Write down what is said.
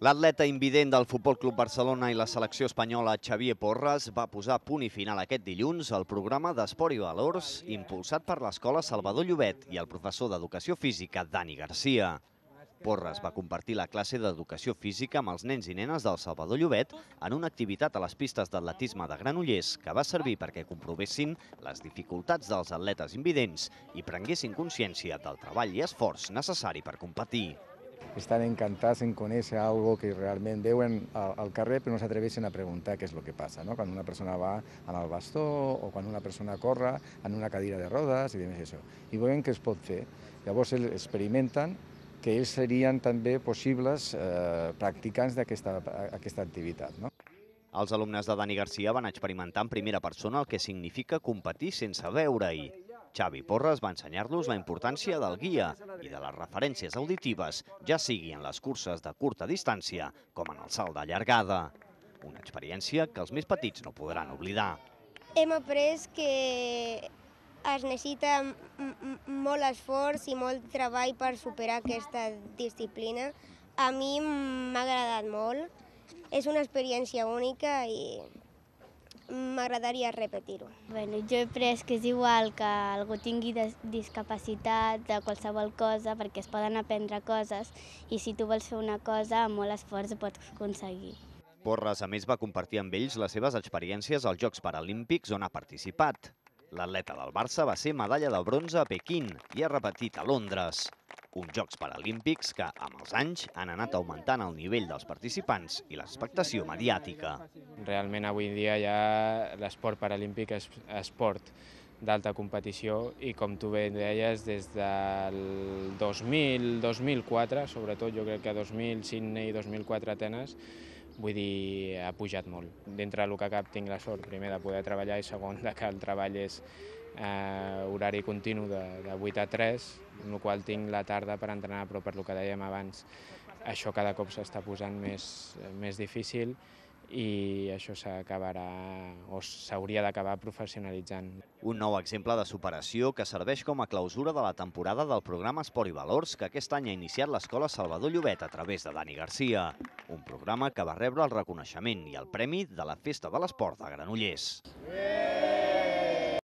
L'atleta invident del Futbol Club Barcelona i la selecció espanyola Xavier Porras va posar punt i final aquest dilluns al programa d'Esport i Valors impulsat per l'Escola Salvador Llobet i el professor d'Educació Física Dani Garcia. Porras va compartir la classe d'Educació Física amb els nens i nenes del Salvador Llobet en una activitat a les pistes d'atletisme de Granollers que va servir perquè comprovessin les dificultats dels atletes invidents i prenguessin consciència del treball i esforç necessari per competir. Estan encantats en conèixer algo que realment veuen al carrer però no s'atreveixen a preguntar què és el que passa, no? Quan una persona va amb el bastó o quan una persona corre en una cadira de rodes i demés això. I veuen que es pot fer. Llavors ells experimenten que ells serien també possibles practicants d'aquesta activitat, no? Els alumnes de Dani Garcia van experimentar en primera persona el que significa competir sense veure-hi. Xavi Porras va ensenyar-los la importància del guia i de les referències auditives, ja sigui en les curses de curta distància com en el salt de llargada. Una experiència que els més petits no podran oblidar. Hem après que es necessita molt esforç i molt treball per superar aquesta disciplina. A mi m'ha agradat molt, és una experiència única i m'agradaria repetir-ho. Jo he après que és igual que algú tingui discapacitat de qualsevol cosa perquè es poden aprendre coses i si tu vols fer una cosa amb molt esforç ho pots aconseguir. Porras, a més, va compartir amb ells les seves experiències als Jocs Paralímpics on ha participat. L'atleta del Barça va ser medalla de bronze a Pequín i ha repetit a Londres. Uns Jocs Paralímpics que, amb els anys, han anat augmentant el nivell dels participants i l'expectació mediàtica. Realment avui dia ja l'esport paralímpic és esport d'alta competició i, com tu bé deies, des del 2004, sobretot jo crec que 2000 Sydney i 2004 Atenes, vull dir, ha pujat molt. Dintre del que cap tinc la sort, primer, de poder treballar i segon, que el treball és horari continu de 8 a 3, amb la qual tinc la tarda per entrenar, però per el que dèiem abans, això cada cop s'està posant més difícil i això s'acabarà o s'hauria d'acabar professionalitzant. Un nou exemple de superació que serveix com a clausura de la temporada del programa Esport i Valors que aquest any ha iniciat l'Escola Salvador Llobet a través de Dani Garcia. Un programa que va rebre el reconeixement i el premi de la Festa de l'Esport de Granollers.